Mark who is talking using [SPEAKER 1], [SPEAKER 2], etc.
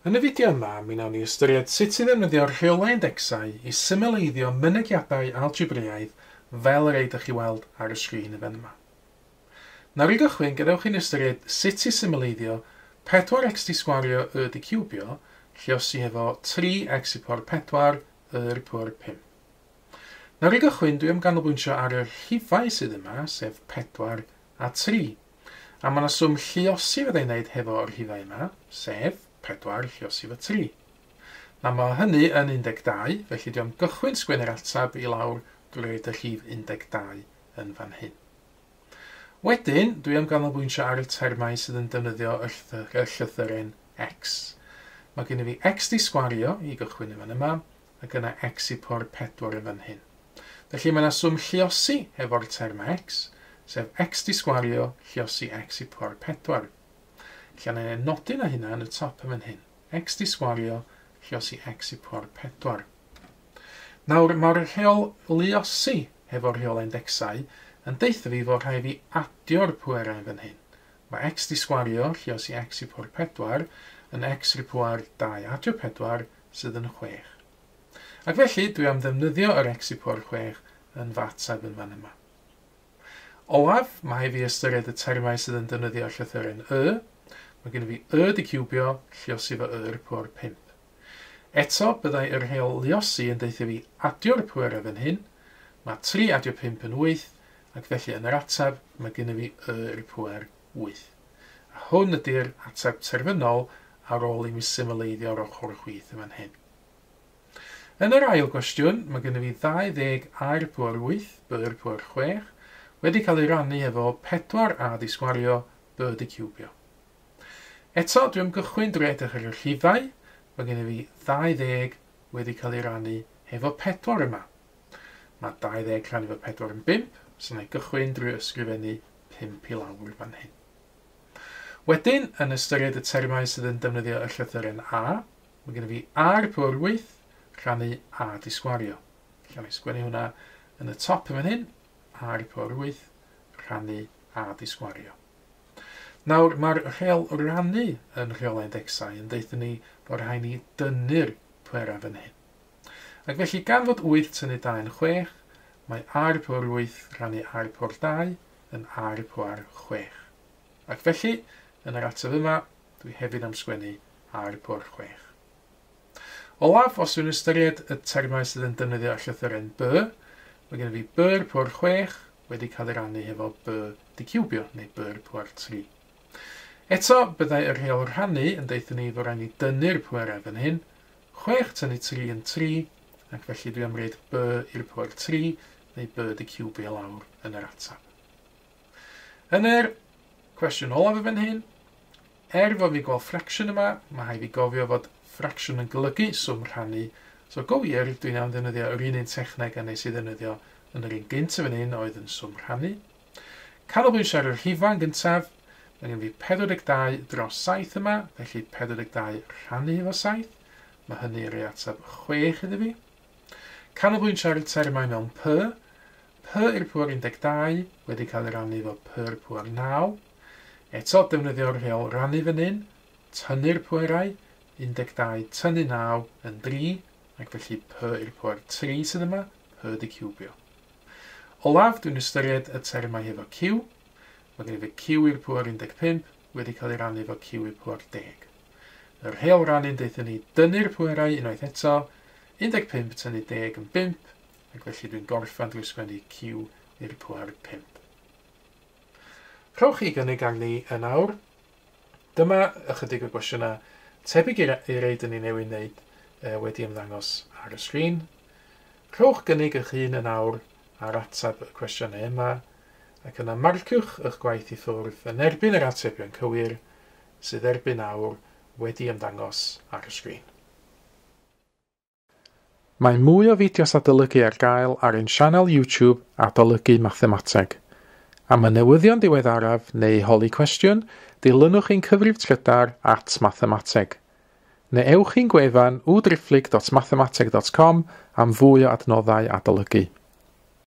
[SPEAKER 1] Yn y fideo yma, mi wnawn ni ystyried sut i ddefnyddio'r rheolau indecsau i symleiddio mynegiadau algebraidd fel yr eiddo chi weld ar y sgrin y fan yma. Nawr i gychwyn, gadewch i'n ystyried sut i symleiddio 4x di sgwario y di ciwbio, lluosi efo 3x i pŵer 4 y i'r pŵer 5. Nawr i gychwyn, dwi am ganolbwyntio ar y rhifau sydd yma, sef 4 a 3. A mae yna swm lluosi fyddai'n wneud hefo'r rhifau yma, sef 4 lluosi efo 3. Nawr mae hynny yn 12, felly dwi am gychwyn sgwennu'r ateb i lawr drwy roid y rhif 12 yn fan hyn. Wedyn, dwi am ganolbwyntio ar y termau sydd yn defnyddio y llythyren x. Mae gen i fi x di sgwario i gychwyn yn fan yma, ac yna x i pŵer 4 yn fan hyn. Felly mae yna swm lluosi efo'r termau x, sef x di sgwario lluosi x i pŵer 4. Lle yna ei nodi na hynna yn y top yn fan hyn. X di sgwario lluosi x i pŵer 4. Nawr, mae'r rheol luosi hefo'r rheol indecsau yn deutha fi fod rhaid fi adio'r pwerau yn fan hyn. Mae x di sgwario lluosi x i pŵer 4 yn x i'r pŵer 2 adio 4 sydd yn 6. Ac felly, dwi am ddefnyddio yr x i pŵer 6 yn fy ateb yn fan yma. Olaf, mae fi ystyried y termau sydd yn defnyddio llythyren y. Mae gen i fi y di ciwbio lluosi fo y i'r pŵer 5. Eto, byddai yr rheol luosi yn deutha fi adio'r pwerau fan hyn. Mae 3 adio 5 yn 8, ac felly yn yr ateb mae gen i fi y i'r pŵer 8. A hwn ydy'r ateb terfynol ar ôl i mi symleiddio'r ochr chwith yn fan hyn. Yn yr ail gwestiwn, mae gen i fi 20 a i'r pŵer 8, b i'r pŵer 6, wedi cael ei rannu efo 4a di sgwario, b di ciwbio. Eto, dwi am gychwyn drwy edrych ar y rhifau. Mae gen i fi 20 wedi cael ei rannu efo 4 yma. Mae 20 rhannu efo 4 yn 5, so na i gychwyn drwy ysgrifennu 5 i lawr fan hyn. Wedyn, yn ystyried y termau sydd yn defnyddio y llythyren a, mae gen i fi a i'r pŵer 8 rhannu a di sgwario. Lle na i sgwennu hwnna yn y top yn fan hyn, a i'r pŵer 8 rhannu a di sgwario. Nawr, mae'r rheol rannu yn rheolau indecsau yn deutha ni bod rhaid ni dynnu'r pwerau fan hyn. Ac felly, gan fod 8 tynnu 2 yn 6, mae a i'r pŵer 8 rhannu a i'r pŵer 2 yn a i'r pŵer 6. Ac felly, yn yr ateb yma, dwi hefyd am sgwennu a i'r pŵer 6. Olaf, os dwi'n ystyried y termau sydd yn defnyddio llythyren b, mae gen i fi b i'r pŵer 6 wedi cael ei rannu hefo b di ciwbio, neu b i'r pŵer 3. Eto, byddai y rheol rhannu yn deutha ni fod rhaid ni dynnu'r pwerau fan hyn. 6 tynnu 3 yn 3, ac felly dwi am roid b i'r pŵer 3, neu b di ciwbio lawr yn yr ateb. Yn yr cwestiwn olaf fan hyn, er fod fi gweld ffracsiwn yma, mae rhaid fi gofio fod ffracsiwn yn golygu swm rhannu. So go wir, dwi'n am ddefnyddio yr un techneg a nes i ddefnyddio yn yr un gynt fan hyn oedd yn swm rhannu. Canolbwyntio ar y rhifau yn gyntaf. Mae gen i fi 42 dros 7 yma, felly 42 rhannu efo 7. Mae hynny yn rhoi ateb 6 iddo fi. Canolbwyntio ar y termau mewn p. P i'r pŵer 12 wedi cael ei rannu efo p i'r pŵer 9. Eto, defnyddio'r rheol rannu fan hyn. Tynnu'r pwerau, 12 tynnu 9 yn 3, ac felly p i'r pŵer 3 sydd yma, p di ciwbio. Olaf, dwi'n ystyried y termau hefo q. Mae gen i fi q i'r pŵer 15 wedi cael ei rannu efo q i'r pŵer 10. Yr rheol rannu'n deutha ni dynnu'r pwerau unwaith eto, 15 tynnu 10 yn 5, ac felly dwi'n gorffen drwy sgwennu q i'r pŵer 5. Rhowch chi gynnig arni yn awr. Dyma ychydig o gwestiynau tebyg i'r rei dyn ni newydd wneud wedi ymddangos ar y sgrin. Rhowch gynnig eich hun yn awr ar ateb y cwestiynau yma, ac yna marciwch eich gwaith i ffwrdd yn erbyn yr atebion cywir sydd erbyn awr wedi ymddangos ar y sgrin. Mae mwy o fideos adolygu ar gael ar ein sianel YouTube Adolygu Mathemateg. Am y newyddion diweddaraf neu holi cwestiwn, dilynwch ein cyfrif trydar @mathemateg. Neu ewch i'n gwefan www.mathemateg.com am fwy o adnoddau adolygu.